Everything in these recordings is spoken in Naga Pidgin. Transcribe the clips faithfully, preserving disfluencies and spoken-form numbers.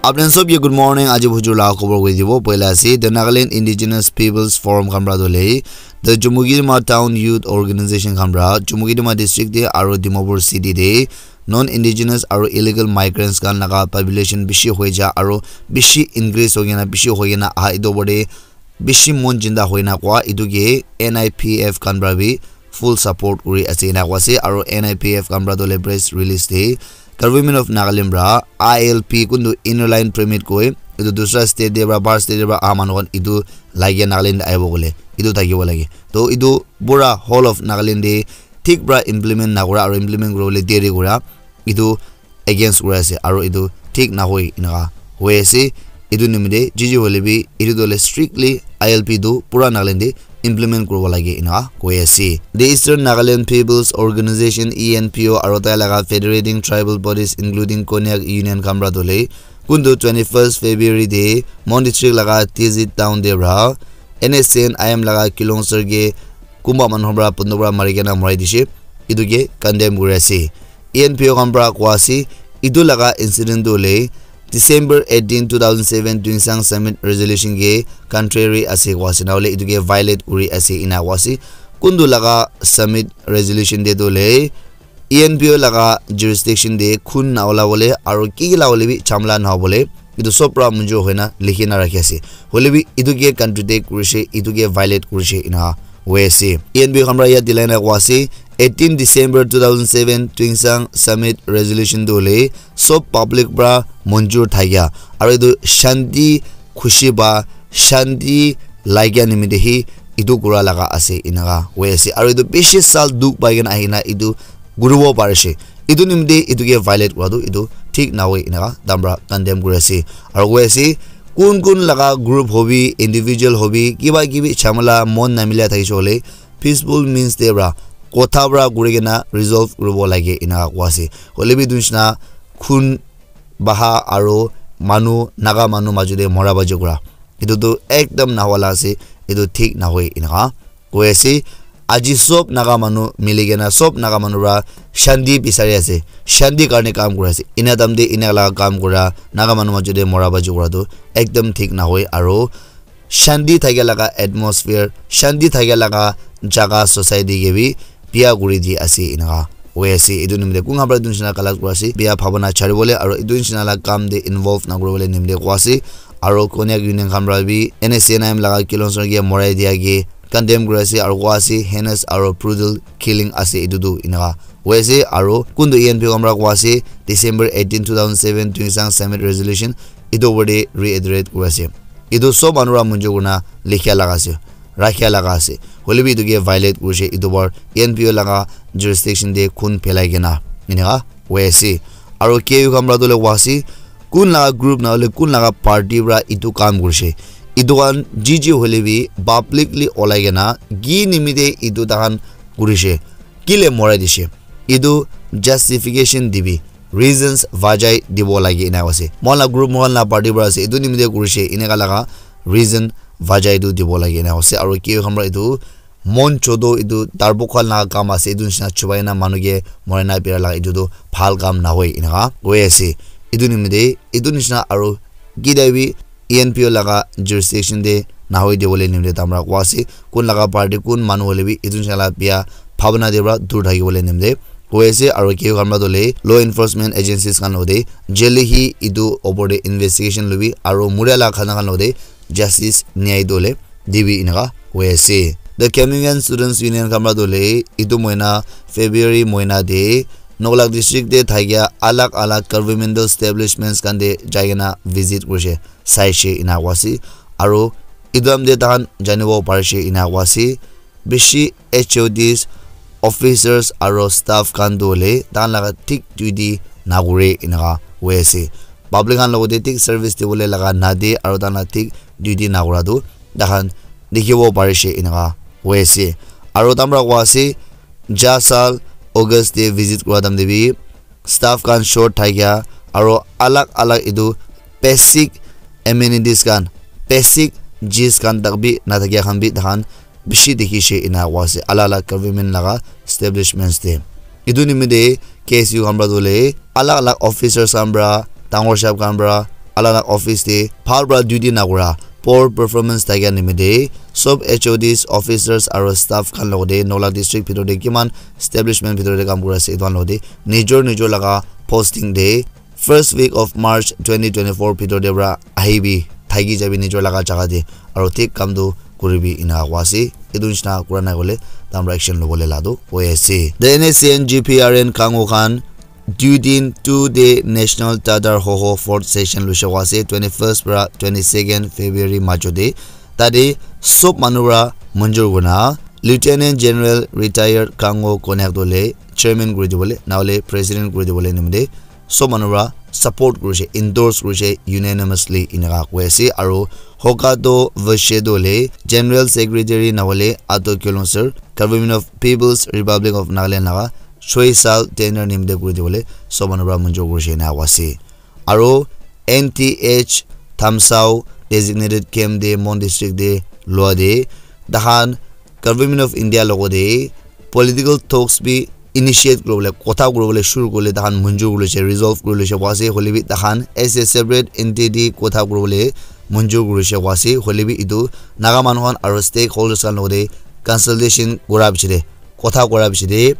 Apni khan sob ke good morning. Aji bujur la khobor koi dibo. Poila ase, the Nagaland Indigenous Peoples Forum khan pra dole, the Chumukedima Town Youth Organization khan pra Chumukedima district te aro Dimapur city te non indigenous aro illegal migrants khan laga population bishi hoi ja aro bishi increase hoi kena, bishi hoi kena aha etu opor te bishi mon jinda hoina koa etu ke N I P F khan pra bi full support kuri ase ena koa ase. Aro N I P F khan pra tohle press release te Government of Nagaland pra I L P kuntu Inner Line Permit koi etu dusra state te pra, bahar state te pra aha manu khan etu lage Nagaland te ahibo kole etu thakibo lage. To etu pura whole of Nagaland te thik pra implement nakura aro implement kuribole deri kura etu against kuri ase aro etu thik nahoi enaka hoi ase. Etu nimite jiji hoile bi etu tohle strictly I L P tu pura Nagaland te implement kuribo lage enaka koi ase. The Eastern Nagaland People's Organization, E N P O, aro tai laga federating tribal bodies including Konyak Union khan pra tohle kuntu twenty-first February te Mon District laga Tizit town te pra N S C N I M laga Kilong sir ke kumba manu pra pondo pra mari kena morai dishe. Etu ke condemn kuri ase. E N P O khan pra koa ase, etu laga incident tu hoile December eighteen, two thousand seven Tuensang Summit Resolution ke contrary ase koa ase, nahole etu ke violate kuri ase ena koa ase. Kuntu laga Summit Resolution te tu hoile E N P O laga jurisdiction te khun na ola bole aro ki ki la hole bi chamla na hobole etu sob pra munjur hoina likhi na rakhi ase. Hoile bi etu ke contradict kurishe, etu ke violate kurishe ena hoi ase. E N P O khan pra yat dilai na koa ase, eighteen December two thousand seven Tuensang Summit Resolution tu hoile sob public pra munjur thakya aro etu shanti khushi ba shanti lagya nimite hi etu kura laga ase enaka hoi ase. Aro etu bishi sal dukh pai kena ahina etu kuribo parishe. Etu nimite etu ke violate kura tu etu thik nahoi enaka tai khan pra condemn kuri ase. Aro koi ase kun kun laga group hobi, individual hobi, kiba kibi chamala mon namila thakishe hoile peaceful means te pra kotha pra kuri kena resolve kuribo lage enaka koa ase. Hoile bi etu nishina khun baha aro manu, Naga manu majo te mora baji kura etu tu ekdam nahoi la ase, etu thik nahoi enaka koi ase. Aji sob Naga manu mili kena sob Naga manu pra shanti bisari ase, shanti karne kam kuri ase. Ena time te ena laga kam kura Naga manu majo te mora baji kura tu ekdam thik nahoi aro shanti thakia laga atmosphere, shanti thakia laga jaga society ke bi biya kuri di ase enaka hoi ase. Etu nimite kun khan pra etu nishina collect kuri ase, biya bhabana chari bole aro etu nishina la kam te involve na kuri bole nimite koa ase. Aro Konyak Union khan pra bi N S C N I M laga Kilong sir ke morai dia ke condemn kuri ase aro koa ase heinous aro brutal killing ase etu tu enaka hoi ase. Aro kuntu E N P O khan pra koa ase December eighteen, two thousand seven Tuensang Summit Resolution etu opor te reiterate kuri ase. Etu sob manu pra munjur kurina likhia laga ase, rakhia laga ase. Hoile bi etu ke violate kurishe, etu bar E N P O laga jurisdiction te khun phelai kena enaka hoi ase. Aro K U khan pra tohle koa ase kun laga group nahole kun laga party pra etu kam kurishe, etu khan jiji hoile bi publicly olai kena ki nimite etu tai khan kurishe, kile morai dishe, etu justification dibi, reasons vajai dibo lage ena ase. Moi la group, moi la party pra ase, etu nimite kurishe eneka laga reason vajai tu dibo lage ena ase. Aro K U khan pra etu mon chodo etu darbuk khan laga kam ase, etu nishina chubai na manu ke morai na bera laga etu tu bhal kam nahoi eneka koi ase. Etu nimite etu nishina aro kidai bi E N P O laga jurisdiction te nahoi diwole nimite tai khan pra koi ase. Kun laga party, kun manu hoile bi etu nishina la bia bhabna te pra dur thaki bole nimite koi ase. Aro K U khan pra tohle law enforcement agencies khan logote jale hi etu opor te investigation lobi aro muria la khana khan logote justice nyai tohle dibi eneka koi ase. The Kamiungan Students Union khan pra tohle etu moina February moina te Noklak district te thakia alag alag governmental establishments khan te jai kena visit kurishe, saishe ena koi ase. Aro etu time te tai khan janibo parishe ena koi ase, bishi H O Ds, officers aro staff khan tu hoile tai khan laga thik duty nakure eneka koi ase. Public khan logote thik service dibole laga nade aro tai khan la thik duty nakura tu tai khan dikhibo parishe eneka koi ase. Aro tai khan pra koi ase, ja saal August te visit kura time te bi staff khan short thakia aro alag alag etu basic amenities khan, basic cheez khan tak bi nathakia khan bi tai khan bishi dikhishe ena koi ase alag alag government laga establishments te. Etu nimite K S U khan pra tohle alag alag officers khan pra, dangor sahab khan pra, alak alak office te bhal para duty nakura, poor performance thakia nimite sob H O Ds, officers aro staff khan logate Nagaland district bhitor te kiman establishment bhitor te kam kuri ase etu khan logate nijor nijor laga posting te first week of March twenty twenty-four bhitor te para ahibi, thaki jabi nijor laga jaga te, aro thik kam tu kuribi ena koa ase. Etu nishina kura nai kole tahan para action lobole la tu koi ase. The N S C N G P R N Kango khan dui din two day national Tadar Hoho fourth session luishe koa ase twenty-first para twenty-second February majo te. Tate sob manu para manjur kurina Lieutenant General Retired Kango Konyak dole chairman kuri dibole, nahole president kuri dibole nimite sob manu para support kurishe, endorse kurishe unanimously eneka koi ase. Aro Hokato Vashedo le General Secretary nahole Ato Kyolong sir, Government of People's Republic of Nagaland laga choi sal tenure nimite kuri dibole sob manu para manjur kurishe eneka koi ase. Aro N T H Thamsao designated camp de Mon district de lua de tahan Government of India logo de political talks bi initiate kuribole, kotha kuribole shuru kurile tahan manjur kuri loise, resolve kuri loise koa ase. Hoile bi tahan as a separate entity kotha kuribole manjur kuri loise koa ase. Hoile bi etu Naga manu khan aro stakeholders khan logo de consultation kura piche de, kotha kura piche de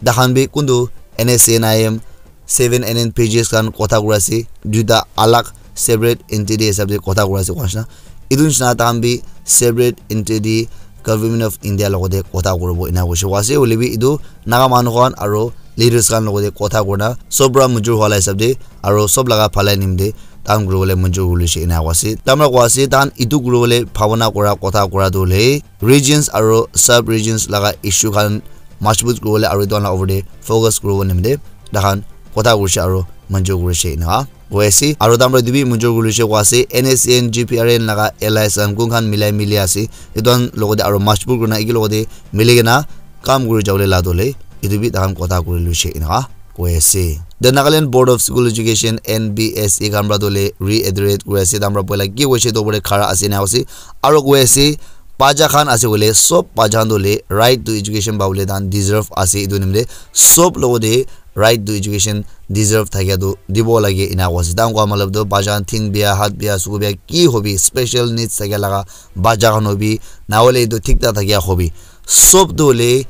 tahan bi kuntu N S C N I M, seven N N P Gs khan kotha kura ase, duita alag separate entity hisab de kotha kura ase koa nishina. Etu nishina tahan bi separate entity Government of India logo de kotha kuribo ena koishe koa ase. Hoile bi etu Naga manu khan aro leaders khan logo de kotha kurina sob para manjur hwa la hisab de aro sob laga bhalai nimite tahan kuribole manjur kuri loise ena koa ase. Tahan para koa ase tahan etu kuribole bhabana kura kotha kura tu hoile regions aro sub regions laga issue khan majbut kuribole aro etu khan la over de focus kuribo nimite tahan kotha kurishe aro manjur kurishe eneka koi ase. Aro tahan para etu bi manjur kuri loise koa ase, N S C N G P R N laga allies khan kun khan milai mili ase, etu khan logo de aro majbut kurina eki logo de mili kena kam kuri jabole la dole etu bi tahan kotha kuri loise eneka koi ase. The Nagaland Board of School Education, N B S E khan para dole reiterate kuri ase, tahan para poila ki koishe etu opor de khara ase ena ase. Aro koi ase bacha khan ase koile sob bacha khan dole right to education pabole tahan deserve ase. Etu nimite sob logo de right to education deserve thakia tu dibo lage ena koa ase. Tahan koa matlab tu bacha khan thing bia, hat bia, suku bia, ki hobi, special needs thakia laga bacha khan hobi, nahole etu thik thak thakia hobi, sob tu hoile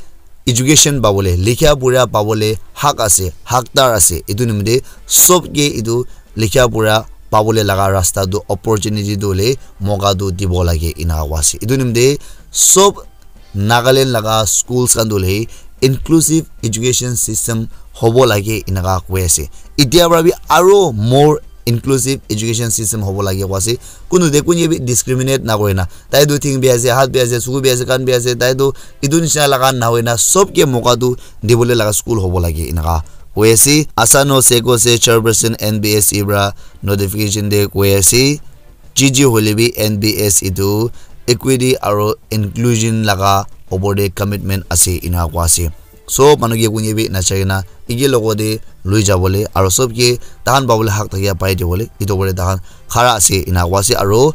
education pabole, likha pura pabole hak ase, hakdar ase. Etu nimite sob ke etu likha pura pabole laga rasta tu, opportunity tu hoile moka tu dibo lage ena koa ase. Etu nimite sob Nagaland laga schools khan tu hoile inclusive education system hobo lage eneka koi ase. Etia para bi aro more inclusive education system hobo lage koi ase. Kunu de kunye bi discriminate na kore na, tai tu thing bi ase, hat bi ase, suku bi ase, kan bi ase, tai tu etu nishina laga na hoi na sob ke moka tu dibole laga school hobo lage eneka koi ase. Asano Seko se chairperson N B S E para notification de koi ase. G G hoile bi N B S etu equity aro inclusion laga opor de commitment ase ena koa ase. Sob manu ke kunye bi nachai kena eki logo de lui jabole aro sob ke tahan pabole hak thakia pai dibole etu opor de tahan khara ase ena koa ase. Aro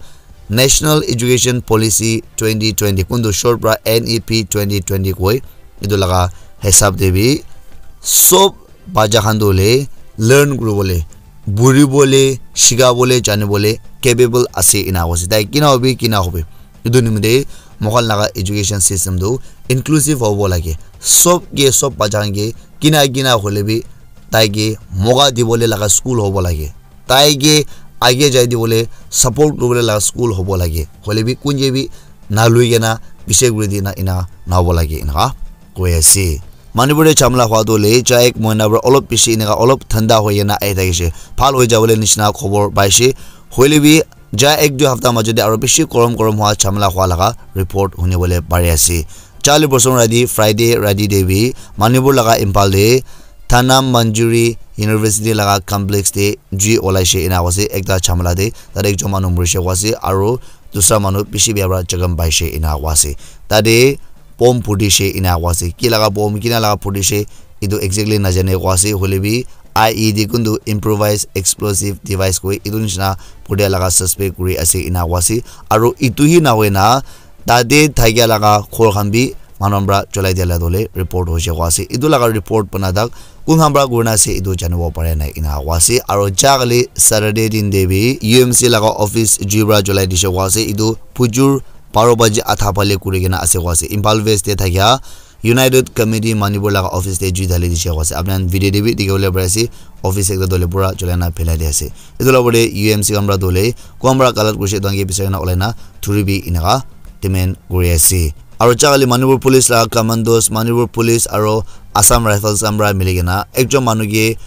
National Education Policy twenty twenty kuntu short para N E P twenty twenty koi, etu laga hisab de bi sob bacha khan tu hoile learn kuribole, buribole, shikabole, janibole capable ase ena koa ase. Tai kina hobi, kina hobi. Etu nimite moikhan laga education system tu inclusive hobo lage. Sob ke sob bacha khan ke kina kina hoile bi tai ke moka dibole laga school hobo lage. Tai ke age jai dibole support kuribole laga school hobo lage. Hoile bi kunye bi nalui kena bichar kuri dina ena nahobo lage eneka koi ase. Manipur te jhamla hwa tu hoile ja ek mohina para olop bishi eneka olop thanda hoi kena ahi thakishe. Bhal hoi jabole nishina khobor paishe. Hoile bi ja ek dui hafta majo te aro bishi gorom gorom hwa jhamla hwa laga report hunibole pari ase. Charli bosor rati Friday rati te bi Manipur laga Imphal te Thana Manjuri University laga complex te jui olaishe ena koise ekta jhamla te, tate ekjon manu morishe koa ase aro dusra manu bishi bia para jakham paishe ena koa ase. Tate bomb phutishe ena koa ase. Ki laga bomb, kina laga phutishe, etu exactly najane koa ase. Hoile bi I E D kuntu improvised explosive device koi etu nishina phutia laga suspect kuri ase ena koa ase. Aro etu hi nahoi na tate thakia laga ghor khan bi manu khan para cholai dia la dole report hoise koa ase. Etu laga report bana tak kun khan para kurina ase etu janibo pare nai ena koa ase. Aro ja kali Saturday din te bi U M C laga office jui para cholai dise koa ase. Etu bujur baro baji adha phale kuri kena ase koa ase. Imphal West te thakia United Committee Manipur laga office te jui dhali dise koa ase. Apni khan video te bi dikhi bole pari ase, office ekta dole pura cholai na phelai di ase. Etu la opor te U M C khan para dole kun para galat kurise etu khan ke bisai kena ulai na thuri bi eneka demand kuri ase. Aro ja kali Manipur Police la commandos, Manipur Police aro Assam Rifles khan para mili kena ekjon manu ke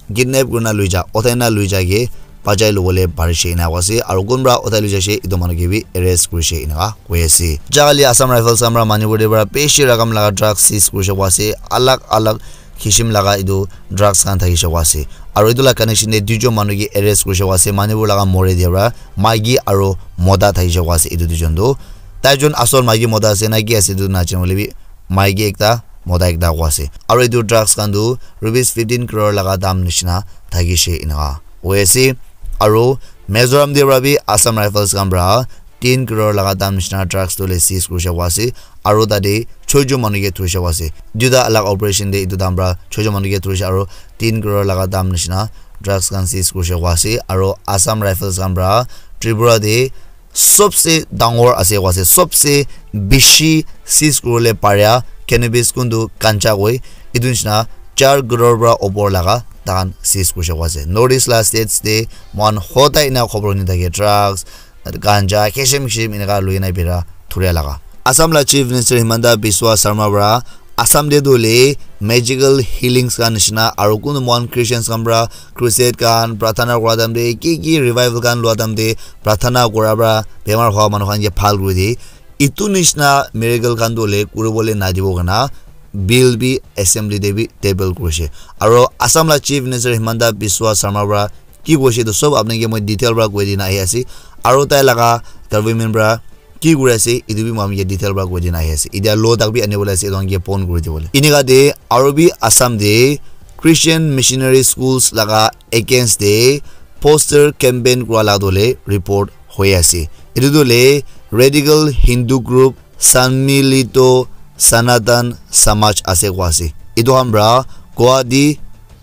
kidnap kurina lui ja, uthai na lui ja ke bachai lobole parishe ena koa ase. Aro kun para uthai lui jaise etu manu ke bi arrest kurishe eneka koi ase. Ja kali Assam Rifles khan para Manipur te para bishi rakam laga drugs seize kurishe koa ase. Alag alag kishim laga etu drugs khan thakishe koa ase. Aro etu la connection te duijon manu ke arrest kurishe koa ase. Manipur laga more te para maiki aro mota thakishe koa ase etu duijon tu. Taijon asol maiki mota ase na ki ase etu najane hoile bi maiki ekta mota ekta koa ase. Aro etu drugs khan tu rupees fifteen crore laga dam nishina thakishe eneka koi ase. Aro Mizoram te para bi Assam Rifles khan para tin crore laga dam nishina drugs tu le seize kurishe koa ase. Aro tate choijon manu ke thurishe koa ase. Duita alag operation te etu dam para choijon manu ke thurishe aro tin crore laga dam nishina drugs khan seize kurishe koa ase. Aro Assam Rifles khan para Tripura te sobse dangor ase koa ase, sobse bishi seize kuribole paria cannabis kuntu ganja koi, etu nishina char crore para opor laga tahan seize kurishe koa ase. North East la states te moikhan hodai ena khobor huni thake, drugs, ganja, kishim kishim eneka lui na bira thuria laga. Assam la Chief Minister Himanta Biswa Sarma para Assam te tu hoile magical healings khan nishina aro kunu moikhan Christians khan para crusade khan, prarthana kura time te, ki ki revival khan lua time te, prarthana kura para bemar hua manu khan ke bhal kuri de. Etu nishina miracle khan tu hoile kuribole nadibo kana bill bi assembly te bi table kurishe. Aro Assam la Chief Minister Himanta Biswa Sarma para ki koishe etu sob apni ke moi detail para koi dina ahi ase. Aro tai laga government para ki kuri ase, etu bi moi khan ke detail para koi dina ahi ase. Etia law tak bi ani bole ase, etu khan ke pon kuri dibole. Enika te aro bi Assam te Christian missionary schools laga against te poster campaign kura la dole report hoi ase. Etu tu le radical Hindu group Sanmilito Sanatan Samaj ase koa ase. Etu khan para Guwahati,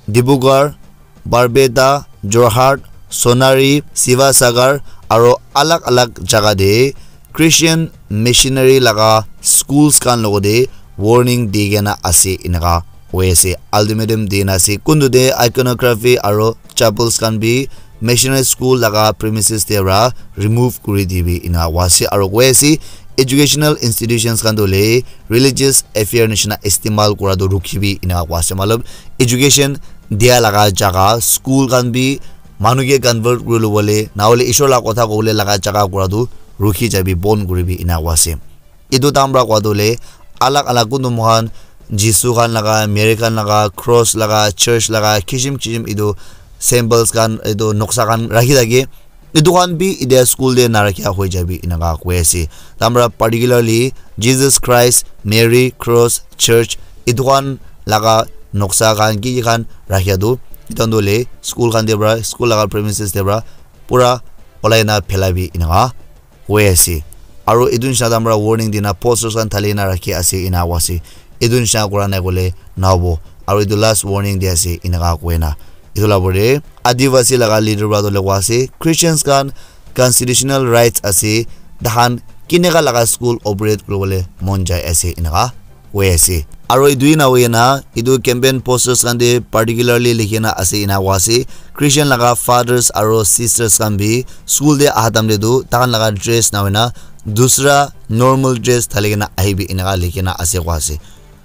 Dibrugarh, Barpeta, Jorhat, Sonari, Sivasagar aro alag alag jaga te Christian missionary laga schools khan logote warning di kena ase eneka koi ase. Ultimatum di na ase kuntu te iconography aro chapels khan bi missionary school laga premises te para remove kuri dibi ena koi ase. Aro koi ase educational institutions khan tu hoile religious affair nishina istemal kura tu rukhibi ena koi ase. Matlab education dia laga jaga school khan bi manu ke convert kuri lobole, na hoile Ishwar la kotha kobole laga jaga kura tu rukhi jabi, bon kuribi, ena koi ase. Etu time para koi tu hoile alag alag kuntu moikhan Jisu khan laga, Mary khan laga, cross laga, church laga, kishim kishim etu symbols khan, etu noksa khan rakhi thake. Etu khan bi etia school te narakhia hoi jabi, eneka koi ase. Time para particularly Jesus Christ, Mary, cross, church, etu khan laga noksa khan ki ki khan rakhia tu, etu khan tu hoile school khan te para, school laga premises te para pura olai na phelabi, eneka koi ase. Aro etu nishina time para warning dina posters khan thali na rakhi ase, ena koi ase. Etu nishina kura nai koile nahobo. Aro etu last warning di ase, eneka koi na. Etu la opor te Adivasi laga leader para tu hoile koi ase, Christians khan constitutional rights ase, tahan kineka laga school operate kuribole mon jai ase, eneka koi ase. Aro etu hi nahoi kena etu campaign posters khan te particularly likhi kena ase, ena koi ase, Christian laga fathers aro sisters khan bi school te aha time te tu tahan laga dress nahoi na dusra normal dress thali kena ahibi, eneka likhi kena ase koi ase.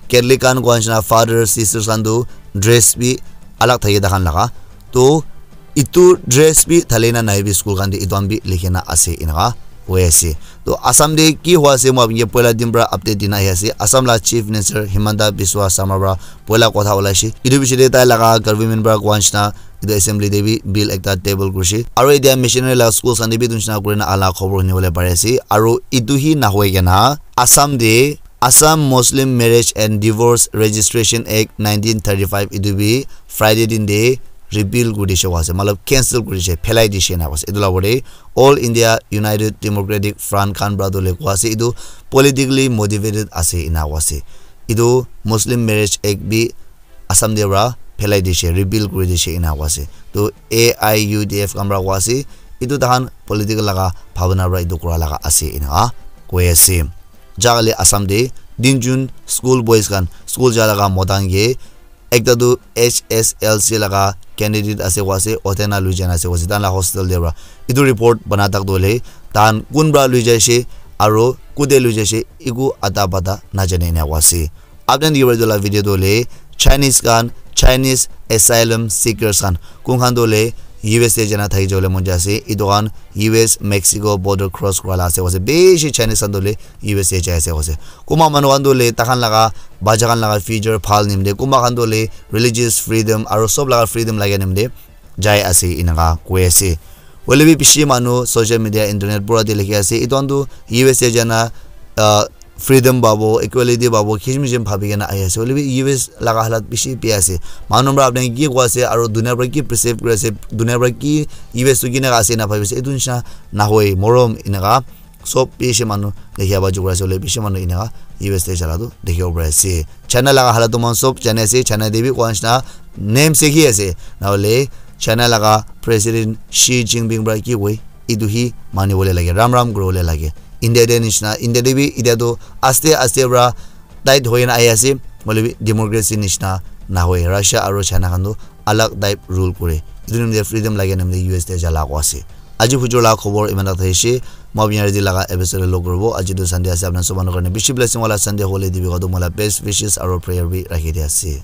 Catholic khan koi nishina father sisters khan tu dress bi alag thake tahan laga. To etu dress bi thali na nahibi school khan te, etu khan bi likhi kena ase, eneka koi ase. To Assam te ki hoi ase, moi apni ke poila din para update dina ahi ase. Assam la Chief Minister Himanta Biswa Sarma para poila kotha olaise. Etu piche te tai laga government para koi nishina etu assembly te bi bill ekta table kurise. Aro etia missionary laga schools khan te bi etu nishina kurina ala khobor huni bole pari ase. Aro etu hi nahoi kena Assam te Assam Muslim Marriage and Divorce Registration Act nineteen thirty-five etu bi Friday din te repeal kuri dishe koa ase, matlab cancel kuri dishe, phelai dishe ena koa ase. Etu la opor te All India United Democratic Front khan pra tu le koa ase, etu politically motivated ase ena koa ase. Etu Muslim Marriage Act bi Assam te pra phelai dishe, repeal kuri dishe ena koa ase. To A I U D F khan pra koa ase, etu tahan political laga bhabana pra etu kura laga ase ena koi ase. Jagale Assam te tinjun school boys khan, school ja laga mota khan ke ekta tu H S L C laga candidate ase koa ase, otena lui jana ase koa ase, tahan la hostel te pra. Etu report bana tak tu hoile, tahan kun pra lui jaise, aro kute lui jaise, eku ata pata najane ena koa ase. Apni khan dikhibo etu la video tu hoile, Chinese khan, Chinese asylum seekers khan, kun khan tu hoile U S te jana thaki jabole mon jai ase, etu khan U S Mexico border cross kura la ase koa ase, bishi Chinese khan tu hoile U S te jai ase koa ase. Kunba manu khan tu hoile taikhan laga bacha khan laga future bhal nimite, kunba khan tu hoile religious freedom aro sob laga freedom laga nimite jai ase eneka koi ase. Hoile bi bishi manu social media, internet pura te likhi ase, etu khan tu U S te jana, ah, freedom pabo, equality pabo, kisim kisim bhabi kena ahi ase. Hoile bi U S laga halat bishi bia ase. Manu pra apni khan ki koi ase, aro dunia pra ki perceive kuri ase, dunia pra ki U S tu kineka ase ena bhabi ase, etu nishina nahoi, morom eneka. Sob bishi manu dikhiya pa jukura ase, hoile bishi manu eneka U S te jala tu dikhibo pari ase. China laga halat tu moikhan sob jani ase, China te bi koa nishina name se ki ase. Nahole China laga President Xi Jinping pra ki koi, etu hi mani bole lage, ram ram kuri bole lage. India te nishina, India te bi itya tu aste aste pra tight hoi kena ahi ase, hoile bi democracy nishina nahoi. Russia aro China khan tu alag type rule kure. Etu nimite freedom lage nimite U S te jala koa ase. Aji hujur la khobor iman tak thakishi. Moi apni khan laga episode log kuribo. Aji tu Sunday ase, apni khan sob manu karne bishi blessing wala Sunday hole dibi koa tu moi la best wishes aro prayer bi rakhi di ase.